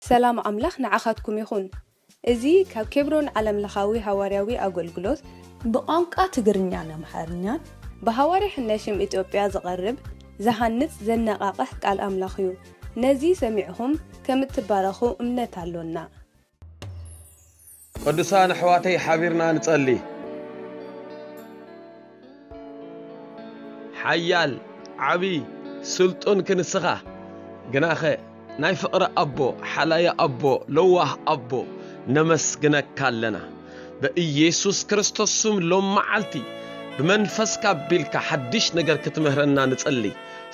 ሰላም ኣምላኽ ንዓኻትኩም ይኹን። እዚ ካብ ኬብሮን ዓለምለኻዊ ሃዋርያዊ ኣገልግሎት ብቋንቋ ትግርኛን ኣምሓርኛን ብሃዋርያ ሕነሽም ኢትዮጵያ ዝቐርብ ዝሃንጽ ዘነቓቕሕ ቃል ኣምላኽ እዩ። ነዚ ሰሚዕኹም ከም እትባረኹ እምነት ኣሎና። ቅዱሳን ኣሕዋተይ ሓቢርና ንጸሊ። ሓያል ዓቢ ስልጡን ክንስኻ ግናኸ ናይ ፍቕሪ ኣቦ ሓላዪ ኣቦ ለዋህ ኣቦ ነመስግነካ ኣለና። ብኢየሱስ ክርስቶስ ስም ሎም መዓልቲ ብመንፈስካ ኣቢልካ ሓድሽ ነገር ክትምህረና ንጽሊ።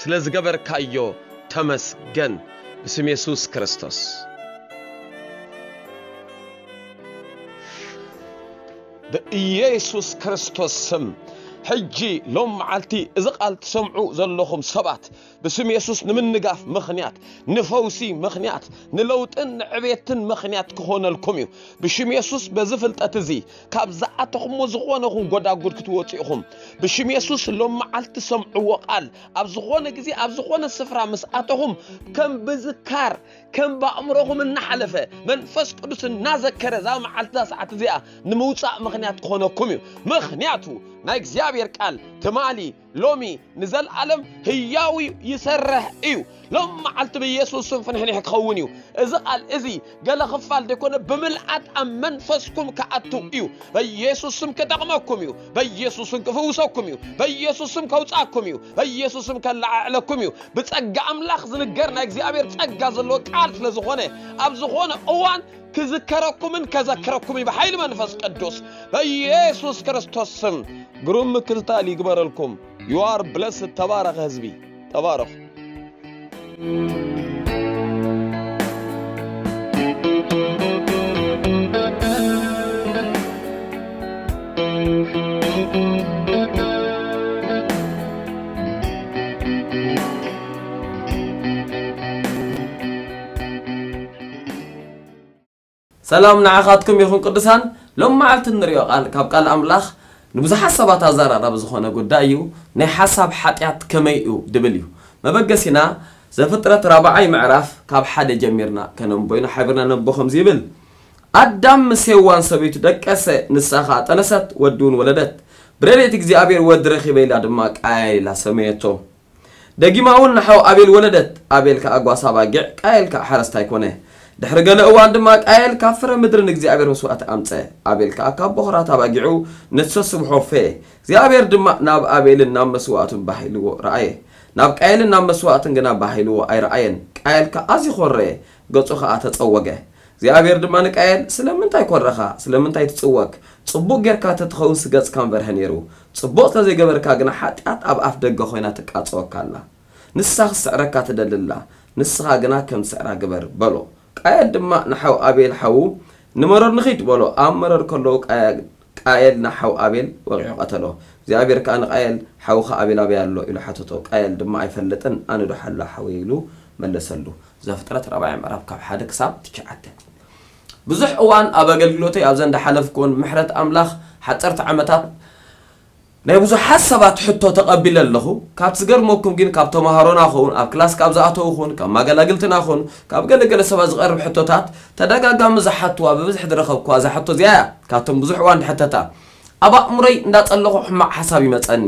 ስለ ዝገበርካዮ ተመስገን። ብስም የሱስ ክርስቶስ። ብኢየሱስ ክርስቶስ ስም ሕጂ ሎም መዓልቲ እዚ ቃል ትሰምዑ ዘለኹም ሰባት ብስም የሱስ ንምንጋፍ ምኽንያት፣ ንፈውሲ ምኽንያት፣ ንለውጥን ንዕቤትን ምኽንያት ክኾነልኩም እዩ። ብሽም የሱስ በዚ ፍልጠት እዚ ካብ ዝኣተኹሞ ዝኾነ ኹን ጎዳጉድ ክትወፁ ኢኹም። ብሽም የሱስ ሎም መዓልቲ ሰምዕዎ ቃል ኣብ ዝኾነ ግዜ ኣብ ዝኾነ ስፍራ ምስ ኣተኹም ከም ብዝካር ከም ብኣእምሮኹም እናሓለፈ መንፈስ ቅዱስ እናዘከረ እዛ መዓልቲ እዛ ሰዓት እዚኣ ንምውፃእ ምኽንያት ክኾነኩም እዩ። ምኽንያቱ ናይ እግዚኣብሔር ቃል ትማሊ ሎሚ ንዘለኣለም ህያው እዩ፣ ይሰርሕ እዩ። ሎም መዓልቲ ብኢየሱስ ስም ፍንሕንሕ ክኸውን እዩ። እዚ ቃል እዚ ገለ ክፋል ዘይኮነ ብምልኣት ኣብ መንፈስኩም ክኣቱ እዩ። በኢየሱስ ስም ክጠቕመኩም እዩ። በኢየሱስ ስም ክፍውሰኩም እዩ። በኢየሱስ ስም ከውፃኩም እዩ። በኢየሱስ ስም ከለዓዕለኩም እዩ። ብጸጋ ኣምላኽ ዝንገር ናይ እግዚኣብሔር ጸጋ ዘለዎ ቃል ስለ ዝኾነ ኣብ ዝኾነ እዋን ክዝከረኩምን ከዘክረኩም እዩ ብሓይሊ መንፈስ ቅዱስ በኢየሱስ ክርስቶስ ስም። ግሩም ምክትታል ይግበረልኩም። You are blessed። ተባረኸ ህዝቢ፣ ተባረኹ። ሰላም ንዓኻትኩም ይኹን ቅዱሳን። ሎም መዓልቲ እንሪኦ ቃል ካብ ቃል ኣምላኽ ንብዙሓት ሰባት ኣዘራራቢ ዝኾነ ጉዳይ እዩ። ናይ ሓሳብ ሓጢኣት ከመይ እዩ ድብል እዩ። መበገሲና ዘፍጥረት ራብዓይ ምዕራፍ ካብ ሓደ ጀሚርና ከነንቦ ኢና። ሓቢርና ነንቦ ከምዚ ይብል፣ ኣዳም ምስ ሄዋን ሰበይቱ ደቀሰ፣ ንሳ ኸኣ ጠነሰት፣ ወዲ እውን ወለደት። ብረድኤት እግዚኣብሔር ወዲ ረኺበ ኢላ ድማ ቃየል ኢላ ሰመየቶ። ደጊማ እውን ንሓው ኣቤል ወለደት። ኣቤል ከኣ ጓሳ ኣባጊዕ፣ ቃየል ከኣ ሓረስታይ ኮነ። ድሕሪ ገለ እዋን ድማ ቃየል ካብ ፍረ ምድሪ ንእግዚኣብሔር መስዋእቲ ኣምጸ። ኣቤል ከኣ ካብ በኹራት ኣባጊዑ ንሰስብሖ ፈየ። እግዚኣብሔር ድማ ናብ ኣቤልን ናብ መስዋእቱን ባህ ኢልዎ ረኣየ። ናብ ቃየልን ናብ መስዋእትን ግና ባህ ኢልዎ ኣይረኣየን። ቃየል ከኣ ኣዝዩ ኾረየ፣ ገጹ ከኣ ተጸወገ። እግዚኣብሔር ድማ ንቃየል፣ ስለምንታይ ኮረኻ? ስለምንታይ ትጽወግ? ጽቡቕ ጌርካ ተትኸውን ስገጽካ ምበርሀ ነይሩ። ጽቡቕ ስለ ዘይገበርካ ግና ሓጢኣት ኣብ ኣፍ ደገ ኮይና ትቃጸወካ ኣላ። ንሳ ክትስዕረካ ትደሊ ኣላ። ንስኻ ግና ከም ዝስዕራ ግበር በሎ። ቃየል ድማ ንሓው ኣቤል ሓዉ፣ ንመሮር ንኺድ በሎ። ኣብ መሮር ከለዉ ቃየ- ቃየል ንሓው ኣቤል ወቒዑ ቀተሎ። እግዚኣብሔር ከኣ ንቃየል፣ ሓውኻ ኣቤል ኣበይ ኣሎ? ኢሉ ሓተቶ። ቃየል ድማ ኣይፈልጥን፣ ኣነ ዶ ሓላ ሓወይ? ኢሉ መለሰሉ። ዘፍጥረት ራብዓይ ምዕራፍ ካብ ሓደ ክሳብ ትሽዓተ። ብዙሕ እዋን ኣብ ኣገልግሎተይ ኣብዘን ዝሓለፍኩወን ብምሕረት ኣምላኽ ሓፀርቲ ዓመታት ናይ ብዙሓት ሰባት ሕቶ ተቐቢለ ኣለኹ። ካብ ዝገርመኩም ግን ካብ ተምሃሮና ኹን፣ ኣብ ክላስ ካብ ዝኣተዉ ኹን፣ ካብ ማገላግልትና ኹን፣ ካብ ገለገለ ሰባት ዝቐርብ ሕቶታት ተደጋጋሚ ዝሓትዋ ብብዝሒ ዝረኸብኩዋ እዛ ሕቶ እዚኣ እያ። ካብቶም ብዙሕ እዋን ዝሕተታ ኣብ ኣእምሮይ እንዳጸለኹ ሕማቕ ሓሳብ ይመጸኒ፣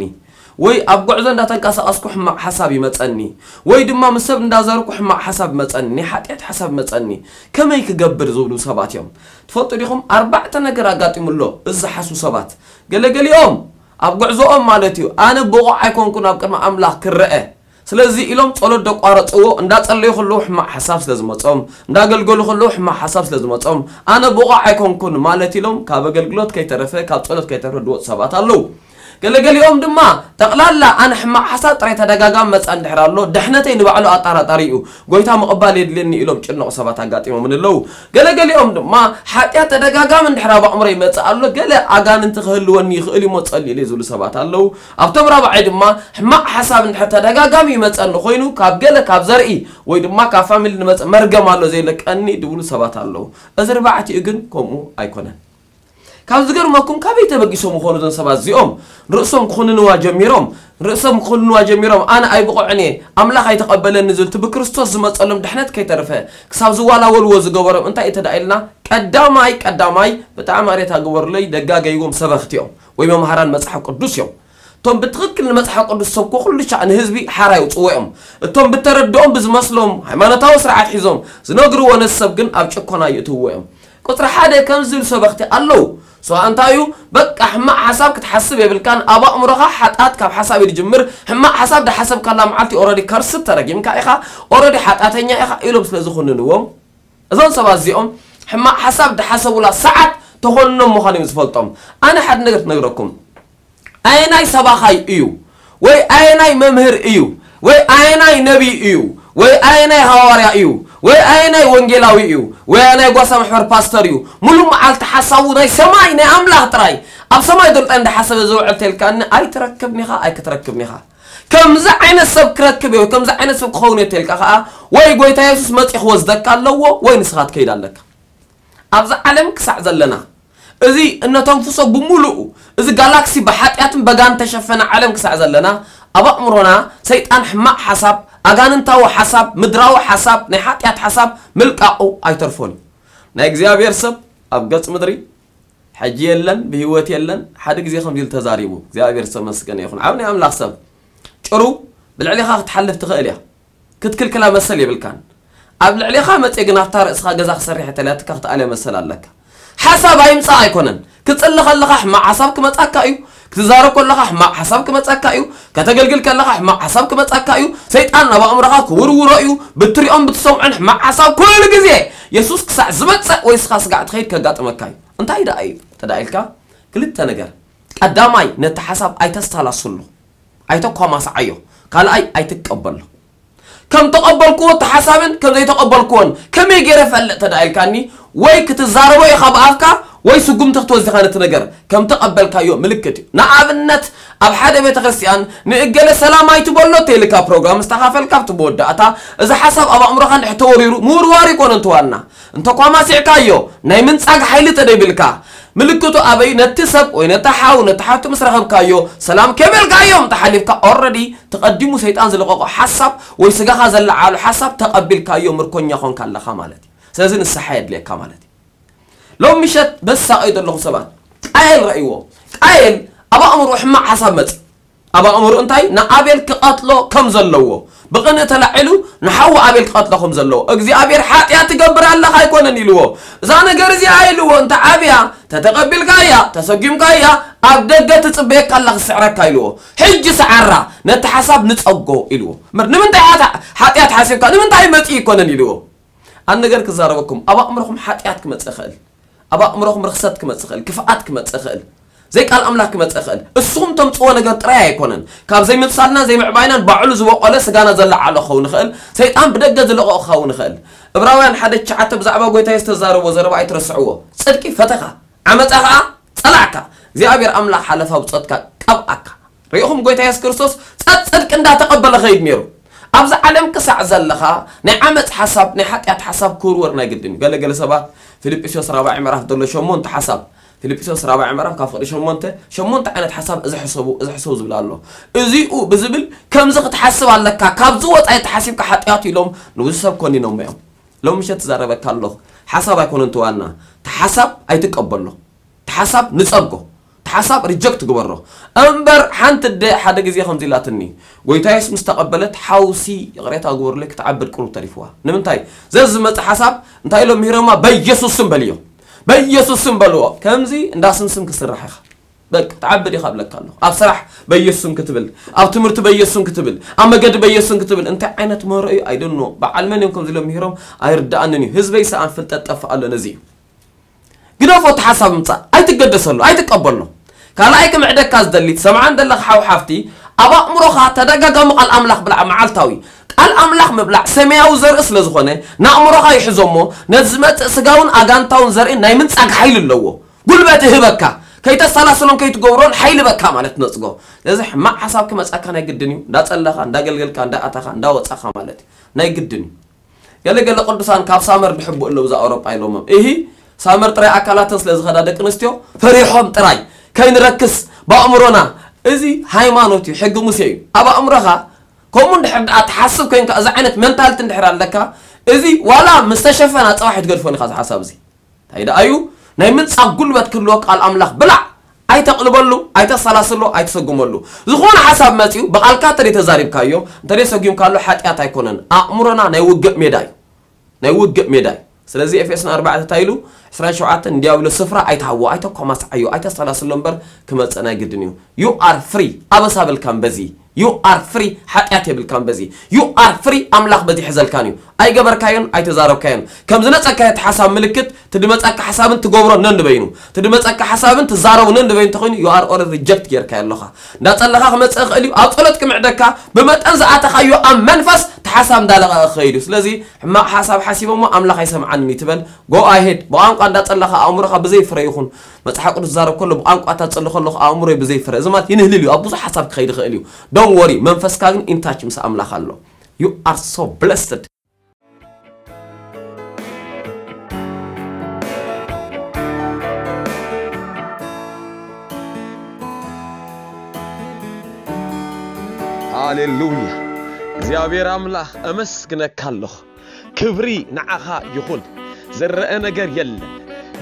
ወይ ኣብ ጉዕዞ እንዳተንቀሳቐስኩ ሕማቕ ሓሳብ ይመጸኒ፣ ወይ ድማ ምስ ሰብ እንዳዘርኩ ሕማቕ ሓሳብ ይመጸኒ፣ ናይ ሓጢኣት ሓሳብ ይመጸኒ። ከመይ ክገብር ዝብሉ ሰባት እዮም። ትፈልጡ ዲኹም? ኣርባዕተ ነገር ኣጋጢሙ ኣሎ እዚ ዝሓስቡ ሰባት። ገለገሊኦም ኣብ ጉዕዞኦም ማለት እዩ፣ ኣነ ብቑዕ ኣይኮንኩን ኣብ ቅድሚ ኣምላኽ ክረአ፣ ስለዚ ኢሎም ጸሎት ደቋረጽዎ። እንዳጸለዩ ከለዉ ሕማቕ ሓሳብ ስለ ዝመጾም፣ እንዳገልገሉ ከለዉ ሕማቕ ሓሳብ ስለ ዝመጾም፣ ኣነ ብቑዕ ኣይኮንኩን ማለት ኢሎም ካብ ኣገልግሎት ከይተረፈ ካብ ጸሎት ከይተረፈ ዝወጹ ሰባት ኣለዉ። ገለገሊኦም ድማ ጠቕላላ ኣነ ሕማቕ ሓሳብ ጥራይ ተደጋጋሚ መጻ እንድሕር ኣሎ፣ ድሕነተይ ንባዕሉ ኣጣራጣሪ እዩ፣ ጎይታ ምቕባል የድልየኒ ኢሎም ጭነቑ ሰባት ኣጋጢሞምን ኣለዉ። ገለገሊኦም ድማ ሓጢኣት ተደጋጋሚ እንድሕር ኣብ ኣእምሮ ይመጽእ ኣሎ፣ ገለ ኣጋንንቲ ክህልወኒ ይኽእል እዩሞ ጸልዩለይ ዝብሉ ሰባት ኣለዉ። ኣብቶም ራብዓይ ድማ ሕማቕ ሓሳብ እንድሕር ተደጋጋሚ ይመጸኒ ኮይኑ ካብ ገለ ካብ ዘርኢ ወይ ድማ ካብ ፋሚሊ ንመጽእ መርገም ኣሎ ዘይለቀኒ ድብሉ ሰባት ኣለዉ። እዚ ርባዕቲኡ ግን ከምኡ ኣይኮነን። ካብ ዝገርመኩም፣ ካበይ ተበጊሶም ይኾኑ እዞም ሰባት እዚኦም? ርእሶም ክኹንንዋ ጀሚሮም። ርእሶም ክኹንንዋ ጀሚሮም፣ ኣነ ኣይብቑዕን እየ፣ ኣምላኽ ኣይተቐበለኒ ዝብል፣ እቲ ብክርስቶስ ዝመጸሎም ድሕነት ከይተረፈ ክሳብ ዝዋላወልዎ ዝገበሮም እንታይ እዩ ተዳኢልና? ቀዳማይ ቀዳማይ ብጣዕሚ ኣሬታ ግበሩለይ፣ ደጋገይዎም ሰበኽቲ እዮም ወይ መምሃራን መጽሓፍ ቅዱስ እዮም። እቶም ብትኽክል ንመጽሓፍ ቅዱስ ሰብኮ ኩሉ ሻዕ ንህዝቢ ሓራ ይውጽዎ እዮም። እቶም ብተረድኦም ብዝመስሎም ሃይማኖታዊ ስርዓት ሒዞም ዝነግርዎ ነቲ ሰብ ግን ኣብ ጭኮና ይእትውዎ እዮም። ቁጽሪ ሓደ ከም ዝብል ሰበኽቲ ኣለዉ። ሰው እንታይ እዩ? በቃ ሕማቕ ሓሳብ ክትሓስብ የብልካን። ኣብ ኣእምሮኻ ሓጣት ካብ ሓሳብ እዩ ዝጅምር። ሕማቕ ሓሳብ ድሓሰብካላ መዓልቲ ኦረዲ ከርስት ተረጊምካ ኢኻ፣ ኦረዲ ሓጣተኛ ኢኻ ኢሎም ስለ ዝኹንንዎም፣ እዞም ሰባት እዚኦም ሕማቕ ሓሳብ ድሓሰቡላ ሰዓት ተኾንኖም ምዃኑ እዮም ዝፈልጦም። ኣነ ሓደ ነገር ክነግረኩም። ኣየናይ ሰባኻይ እዩ ወይ ኣየናይ መምህር እዩ ወይ ኣየናይ ነቢይ እዩ ወይ ኣየናይ ሃዋርያ እዩ ወይ ኣየናይ ወንጌላዊ እዩ ወይ ኣየናይ ጓሳ ማሕበር ፓስተር እዩ፣ ሙሉእ መዓልቲ ሓሳቡ ናይ ሰማይ ናይ ኣምላኽ ጥራይ፣ ኣብ ሰማይ ዘሎ ጥራይ እንዳሓሰበ ዝውዕል ተልካኒ፣ ኣይትረክብን ኢኻ፣ ኣይክትረክብን ኢኻ። ከምዚ ዓይነት ሰብ ክረክብ እየ ወይ ከምዚ ዓይነት ሰብ ክኸውን እየ ተልካ ኸዓ፣ ወይ ጎይታ የሱስ መጺኡ ክወስደካ ኣለዎ ወይ ንስኻ ትከይድ ኣለካ። ኣብዛ ዓለም ክሳዕ ዘለና፣ እዚ እነተንፍሶ ብምሉኡ፣ እዚ ጋላክሲ ብሓጢኣትን በጋን ተሸፈነ ዓለም ክሳዕ ዘለና፣ ኣብ ኣእምሮና ሰይጣን ሕማቕ ሓሳብ፣ ኣጋንንታዊ ሓሳብ፣ ምድራዊ ሓሳብ፣ ናይ ሓጢኣት ሓሳብ ምልቃቑ ኣይተርፎን እዩ። ናይ እግዚኣብሔር ሰብ ኣብ ገጽ ምድሪ ሕጂ የለን፣ ብህይወት የለን። ሓደ ግዜ ከምዚ ኢሉ ተዛሪቡ፣ እግዚኣብሔር ዝተመስገነ ይኹን። ዓብ ናይ ኣምላኽ ሰብ፣ ጭሩ ብልዕሊኻ ክትሓልፍ ትኽእል እያ። ክትክልክላ መሰል የብልካን። ኣብ ልዕሌኻ መጽየ ግን ኣብታ ርእስኻ ገዛ ክሰርሕ እየ ተላትካ ክትኣልያ መሰል ኣለካ። ሓሳብ ኣይምጻእ ኣይኮነን። ክትጽሊ ከለኻ ሕማቕ ሓሳብ ክመጻካ እዩ። ክትዛረብ ከለኻ ሕማቕ ሓሳብ ክመጻካ እዩ። ከተገልግል ከለኻ ሕማቕ ሓሳብ ክመጻካ እዩ። ሰይጣን ናብ ኣእምሮኻ ክውርውሮ እዩ። ብትሪኦን ብትሰምዖን ሕማቕ ሓሳብ ኩሉ ግዜ የሱስ ክሳዕ ዝመጽእ ወይ ስኻ ስጋዕ ትኸይድ ከጋጥመካ እዩ። እንታይ ደኣ እዩ ተዳኢልካ? ክልተ ነገር። ቀዳማይ፣ ነቲ ሓሳብ ኣይተስተላስሎ፣ ኣይተኳማስዓዮ። ካልኣይ፣ ኣይትቀበሎ። ከም ተቐበልክዎ እቲ ሓሳብን ከም ዘይተቐበልክዎን ከመይ ገይረ ፈልጥ ተዳኢልካኒ? ወይ ክትዛረቦ ኢኻ ብኣፍካ ወይ ስጉምቲ ክትወስድ ኢኻ ነቲ ነገር። ከም ተቐበልካዮ ምልክት እዩ። ንኣብነት፣ ኣብ ሓደ ቤተ ክርስቲያን ንእገለ ሰላም ኣይትበሎ ተይልካ ፕሮግራም ዝተኻፈልካ ኣብቲ መወዳእታ፣ እዚ ሓሳብ ኣብ ኣእምሮኻ እንድሕር ተወሪሩ ምውርዋር ይኮነ እንተዋና። እንተኳማሲዕካዮ ናይ ምንጻግ ሓይሊ ተደይብልካ፣ ምልክቱ ኣበይ? ነቲ ሰብ ወይ ነቲ ሓው፣ ነቲ ሓብቲ ምስ ረኸብካዮ፣ ሰላም ከይበልካዮም ተሓሊፍካ፣ ኦረዲ ተቐዲሙ ሰይጣን ዝለቐቖ ሓሳብ ወይ ስጋኻ ዘለዓሉ ሓሳብ ተቐቢልካዮ፣ ምርኮኛ ኾንካ ኣለኻ ማለት እዩ። ስለዚ ንስሓ የድልየካ ማለት እዩ። ሎም ምሸት በሳቐዩ ዘለኹም ሰባት፣ ቃየል ረእይዎ። ቃየል ኣብ ኣእምሮ ሕማቕ ሓሳብ መጽእ። ኣብ ኣእምሮ እንታይ? ንኣቤል ክቐትሎ ከም ዘለዎ፣ ብቕንእ ተላዒሉ ንሓዉ ኣቤል ክቐትሎ ከም ዘለዎ፣ እግዚኣብሔር ሓጢኣት ትገብር ኣለኻ ኣይኮነን ኢልዎ። እዛ ነገር እዚኣ ኢልዎ፣ እንተ ዓብያ፣ ተተቐቢልካያ፣ ተሰጒምካያ፣ ኣብ ደገ ትጽበየካ ኣላ ክስዕረካ ኢልዎ። ሕጂ ሰዓራ፣ ነቲ ሓሳብ ንጸጎ ኢልዎ። ምር-፣ ንምንታይ ሓታ-፣ ሓጢኣት ሓሲብካ? ንምንታይ መጺእ ኣይኮነን ኢልዎ። ኣን ነገር ክዛረበኩም፣ ኣብ ኣእምሮኹም ሓጢኣት ክመጽእ ይኽእል፣ ኣብ ኣእምሮኹም ርኽሰት ክመጽእ ይኽእል፣ ክፍኣት ክመጽእ ይኽእል፣ ዘይቃል ኣምላኽ ክመጽእ ይኽእል። እስኹም ተምጽዎ ነገር ጥራይ ኣይኮነን። ካብ ዘይምብሳልናን ዘይምዕባይናን ባዕሉ ዝበቆለ ስጋና ዘለዓሎ ክኸውን ይኽእል፣ ሰይጣን ብደገ ዝለቐቑ ክኸውን ይኽእል። እብራውያን ሓደ ትሽዓተ ብዛዕባ ጎይታ ዝተዛረቦ ዘረባ ኣይትረስዕዎ። ጽድቂ ፈተኻ፣ ዓመጻ ኸኣ ጸላዕካ፣ እግዚኣብሔር ኣምላኽ ሓለፋ ብጾትካ ቀብኣካ። ርኢኹም፣ ጎይታ የሱስ ክርስቶስ ጸጽድቂ እንዳተቐበለ ኸይድ ነይሩ። ኣብዚ ዓለም ክሳዕ ዘለኻ ናይ ዓመጽ ሓሳብ፣ ናይ ሓጢኣት ሓሳብ ክውርወር ናይ ግድን እዩ። ገለገለ ሰባት ፊልጵስዮስ ራብዓይ ምዕራፍ ዘሎ ሸሞንተ ሓሳብ፣ ፊልጵስዮስ ራብዓይ ምዕራፍ ካብ ፍቕዲ ሸሞንተ፣ ሸሞንተ ዓይነት ሓሳብ እዚ ሕሰቡ፣ እዚ ሕሰቡ ዝብል ኣሎ። እዚኡ ብዝብል ከምዚ ክትሓስብ ኣለካ፣ ካብዚ ወጻኢ ተሓሲብካ ሓጢኣት ኢሎም ንብዙ ሰብ ኮኒኖሞ እዮም። ሎም ምሸት ትዛረበካ ኣለኹ። ሓሳብ ኣይኮነን እቲ ዋና፣ እቲ ሓሳብ ኣይትቀበሎ። እቲ ሓሳብ ንጸጎ፣ እቲ ሓሳብ ሪጀክት ግበሮ። እምበር ሓንቲ ኣደ ሓደ ግዜ ከምዚ ኢላትኒ፣ ጎይታ የሱስ ምስ ተቐበለት፣ ሓውሲ ይቕሬታ ግበሩለይ ክትዓብድ ቅሩብ ተሪፍዋ። ንምንታይ? ዘዝመጽእ ሓሳብ እንታይ ኢሎም ምሂሮማ? በኢየሱስ ስም በልዮ። በኢየሱስ ስም በልዎ። ከምዚ እንዳ ስምስም ክስራሕ ኢኻ። በቃ፣ ትዓብድ ኢኻ እብለካ ኣለኹ። ኣብ ስራሕ በኢየሱስ ስም ክትብል፣ ኣብ ትምህርቲ በኢየሱስ ስም ክትብል፣ ኣብ መገዲ በኢየሱስ ስም ክትብል። እንታይ ዓይነት ምህሮ እዩ? I don't know። በዓል መን እዮም ከምዚ ኢሎም ምሂሮም? ኣይርድኣንን እዩ። ህዝበይ ሰኣን ፍልጠት ጠፍእ ኣሎ ነዚ እዩ። ግደፎ፣ እቲ ሓሳብ ምጻእ ኣይትገደሰሉ፣ ኣይትቀበሎ። ካልኣይ ክምዕደካ ዝደሊ፣ ትሰምዓን ዘለኻ ሓው ሓፍቲ፣ ኣብ ኣእምሮኻ ተደጋጋሚ ቃል ኣምላኽ ብላዕ መዓልታዊ። ቃል ኣምላኽ ምብላዕ ሰማያዊ ዘርኢ ስለ ዝኾነ፣ ንኣእምሮኻ ይሕዞ እሞ፣ ነቲ ዝመጽእ ስጋውን ኣጋንንታውን ዘርኢ ናይ ምንጻግ ሓይሊ ኣለዎ። ጉልበት ይህበካ። ከይተሰላስሎን ከይትገብሮን ሓይሊ በካ ማለት ነጽጎ። ስለዚ ሕማቕ ሓሳብ ክመጻካ ናይ ግድን እዩ። እንዳጸለኻ፣ እንዳገልገልካ፣ እንዳኣታኻ፣ እንዳወጻኻ ማለት እዩ። ናይ ግድን እዩ። ገለ ገለ ቅዱሳን ካብ ሳመር ድሕቡ ኣለዉ እዛ ኣውሮጳ ኢሎሞም። እሂ፣ ሳመር ጥራይ ኣካላተን ስለ ዝኸዳ ደቂ ኣንስትዮ ፈሪሖም ጥራይ ከይንረክስ ብኣእምሮና። እዚ ሃይማኖት እዩ፣ ሕጊ ሙሴ እዩ። ኣብ ኣእምሮኻ ከምኡ እንድሕር ደኣ ትሓስብ ኮይንካ፣ እዚ ዓይነት መንታልቲ እንድሕር ኣለካ፣ እዚ ዋላ ምስ ተሸፈና ጽባሕ ትገድፎን ኢኻ፣ እዚ ሓሳብ እዚ። እንታይ ደኣ እዩ? ናይ ምንጻግ ጉልበት ክህልዎ ቃል ኣምላኽ ብላዕ፣ ኣይተቕልበሉ፣ ኣይተሰላስሎ፣ ኣይተሰጉመሉ። ዝኾነ ሓሳብ መጺኡ ብቓልካ እንተደይ ተዛሪብካዮ፣ እንተደይ ሰጉምካሉ ሓጢኣት ኣይኮነን። ኣእምሮና ናይ ውግእ ሜዳ እዩ። ናይ ውግእ ሜዳ እዩ። ስለዚ ኤፌሶን ኣርባዕተ እንታይ ኢሉ? ዕስራን ሸውዓተን፣ ንዲያብሎስ ስፍራ ኣይትሃቦ፣ ኣይተኮማስዓዮ፣ ኣይተሰላስሎ እምበር ክመጽእ ናይ ግድን እዩ። You are free። ኣበሳ የብልካን በዚ። You are free። ሓጢኣት የብልካን በዚ። You are free። ኣምላኽ በዚ ይሕዘልካን እዩ። ኣይገበርካዮን ኣይተዛረብካዮን። ከም ዝመጸካ እቲ ሓሳብ ምልክት፣ ትድመጸካ ሓሳብን ትገብሮ ነንበይኑ፣ ትድመጸካ ሓሳብን ትዛረቡ ነንበይኑ እንተኾይኑ፣ you are already reject ጌርካዮ ኣለኻ። እንዳጸለኻ ክመጽእ ይኽእል እዩ። ኣብ ጸሎት ክምዕደካ፣ ብመጠን ዝኣተኻዮ ኣብ መንፈስ እቲ ሓሳብ እንዳለቐቐ ክኸይድ እዩ። ስለዚ ሕማቕ ሓሳብ ሓሲቦሞ ኣምላኽ ኣይሰምዓንን እዩ ትበል፣ go ahead። ብቋንቋ እንዳጸለኻ ኣእምሮኻ ብዘይ ፍረ ይኹን። መጽሓፍ ቅዱስ ዝዛረብ ከሎ ብቋንቋ እታ ዝጸሊ ከለኹ ኣእምሮይ ብዘይ ፍረ። እዚ ማለት ይንህልል እዩ፣ ኣብ ብዙሕ ሓሳብ ክኸይድ ይኽእል እዩ። Don't worry፣ መንፈስካ ግን in touch ምስ ኣምላኽ ኣሎ። You are so blessed። ሃሌሉያ። እግዚኣብሔር ኣምላኽ፣ ኣመስግነካ ኣለኹ። ክብሪ ንዓኻ ይኹን። ዝረአ ነገር የለን፣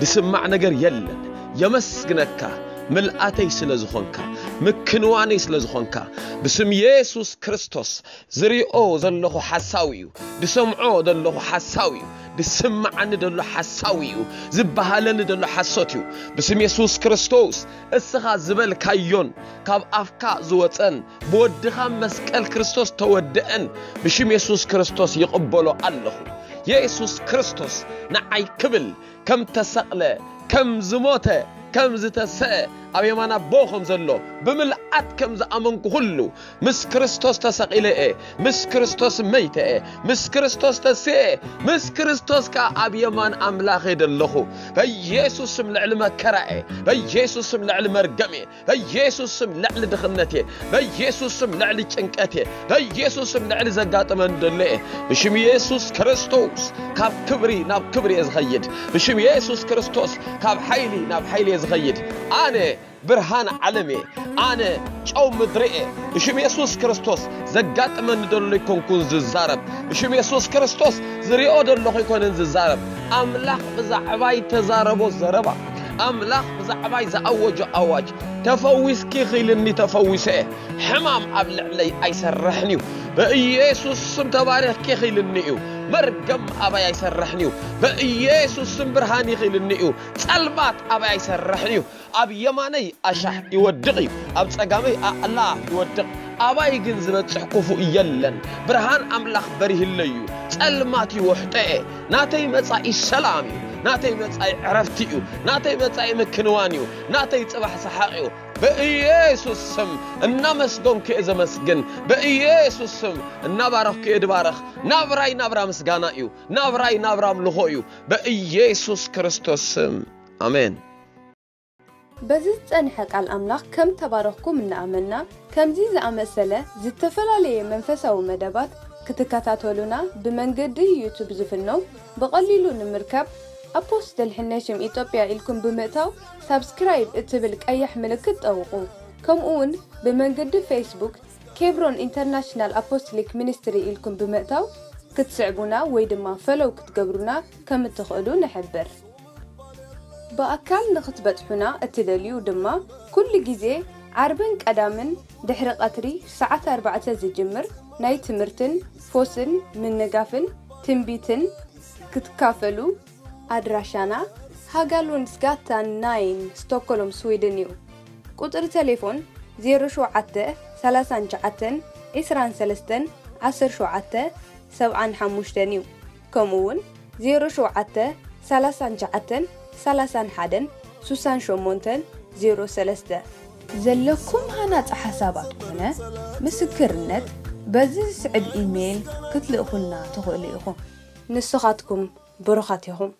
ዝስማዕ ነገር የለን። የመስግነካ፣ ምልኣተይ ስለ ዝኾንካ፣ ምክንዋነይ ስለ ዝኾንካ። ብስም የሱስ ክርስቶስ ዝሪኦ ዘለኹ ሓሳዊ እዩ። ዝሰምዖ ዘለኹ ሓሳዊ እዩ። ዝስምዓኒ ዘሎ ሓሳዊ እዩ። ዝበሃለኒ ዘሎ ሓሶት እዩ። ብስም የሱስ ክርስቶስ እስኻ ዝበልካዮን ካብ ኣፍካ ዝወጸን ብወድኻ መስቀል ክርስቶስ ተወደአን ብሽም የሱስ ክርስቶስ ይቕበሎ ኣለኹ። የሱስ ክርስቶስ ንዓይ ክብል ከም ተሰቕለ፣ ከም ዝሞተ፣ ከም ዝተሰአ፣ ኣብ የማን ኣቦ ከም ዘሎ ብምልኣት ከም ዝኣመንኩ ኩሉ፣ ምስ ክርስቶስ ተሰቒለ እየ፣ ምስ ክርስቶስ መይተ እየ፣ ምስ ክርስቶስ ተስየ እየ፣ ምስ ክርስቶስ ከኣ ኣብ የማን ኣምላኽ እየ ዘለኹ። በኢየሱስ ስም ልዕሊ መከራ እየ፣ በኢየሱስ ስም ልዕሊ መርገም እየ፣ በኢየሱስ ስም ልዕሊ ድኽነት እየ፣ በኢየሱስ ስም ልዕሊ ጭንቀት እየ፣ በኢየሱስ ስም ልዕሊ ዘጋጥመን ዘሎ እየ። ብሽም ኢየሱስ ክርስቶስ ካብ ክብሪ ናብ ክብሪ እየ ዝኸይድ። ብሽም ኢየሱስ ክርስቶስ ካብ ሓይሊ ናብ ሓይሊ እየ ዝኸይድ። ኣነ ብርሃን ዓለም እየ። ኣነ ጨው ምድሪ እየ። ብሽም የሱስ ክርስቶስ ዘጋጥመኒ ዘሎ ኣይኮንኩን ዝዛረብ። ብሽም የሱስ ክርስቶስ ዝሪኦ ዘለኹ ኣይኮነን ዝዛረብ። ኣምላኽ ብዛዕባይ ተዛረቦ ዘረባ፣ ኣምላኽ ብዛዕባይ ዝኣወጆ ኣዋጅ፣ ተፈዊስኪ ኢኺ ኢልኒ፣ ተፈዊሰ እየ። ሕማም ኣብ ልዕለይ ኣይሰርሕን እዩ። ብኢየሱስ ስም ተባሪኽኪ ኢኺ ኢልኒ እዩ። መርገም ኣባይ ኣይሰርሕን እዩ። ብኢየሱስ ስም ብርሃን ኢኺ ኢልኒ እዩ። ጸልማት ኣባይ ኣይሰርሕን እዩ። ኣብ የማነይ ኣሻሕ ይወድቕ እዩ፣ ኣብ ጸጋመይ ኣዕላፍ ይወድቕ፣ ኣባይ ግን ዝበጽሕ ክፉእ የለን። ብርሃን ኣምላኽ በሪህለይ እዩ፣ ጸልማት ይውሕጦ እየ። ናተይ መጻኢ ሰላም እዩ፣ ናተይ መጻኢ ዕረፍቲ እዩ፣ ናተይ መጻኢ ምክንዋን እዩ፣ ናተይ ጽባሕ ሰሓቕ እዩ። ብኢየሱስ ስም እናመስገንኩ እየ ዘመስግን፣ ብኢየሱስ ስም እናባረኽኩ እየ ድባረኽ። ናብራይ ናብራ ምስጋና እዩ፣ ናብራይ ናብራ ኣምልኾ እዩ፣ ብኢየሱስ ክርስቶስ ስም ኣሜን። በዚ ዝጸንሐ ቃል ኣምላኽ ከም ተባረኽኩም እናኣመንና፣ ከምዚ ዝኣመሰለ ዝተፈላለየ መንፈሳዊ መደባት ክትከታተሉና ብመንገዲ ዩቱብ ዝፍኖ ብቐሊሉ ንምርካብ ኣፖስትል ሕነሽም ኢትዮጵያ ኢልኩም ብምእታው ሳብስክራይብ እትብል ቀያሕ ምልክት ጠውቑ። ከምኡ እውን ብመንገዲ ፌስቡክ ኬብሮን ኢንተርናሽናል ኣፖስቶሊክ ሚኒስትሪ ኢልኩም ብምእታው ክትስዕቡና ወይ ድማ ፈሎው ክትገብሩና ከም እትኽእሉ ንሕብር። ብኣካል ንኽትበጽሑና እትደልዩ ድማ፣ ኩሉ ግዜ ዓርብን ቀዳምን ድሕሪ ቀትሪ ሰዓት ኣርባዕተ ዝጅምር ናይ ትምህርትን ፎስን ምንጋፍን ትንቢትን ክትካፈሉ፣ ኣድራሻና ሃጋሉንድስጋታን ናይን፣ ስቶክሆልም፣ ስዊድን እዩ። ቁጽሪ ቴሌፎን ዜሮ ሸውዓተ ሰላሳን ትሽዓተን ዒስራን ሰለስተን ዓሰርተ ሸውዓተ ሰብዓን ሓሙሽተን እዩ። ከምኡ እውን ዜሮ ሸውዓተ ሰላሳን ትሽዓተን ሰላሳን ሓደን ስሳን ሸሞንተን ዜሮ ሰለስተ። ዘለኩም ሃናጺ ሓሳባት ኮነ ምስክርነት በዚ ዝስዕብ ኢሜይል ክትልእኹልና ትኽእሉ ኢኹም። ንስኻትኩም ብሩኻት ኢኹም።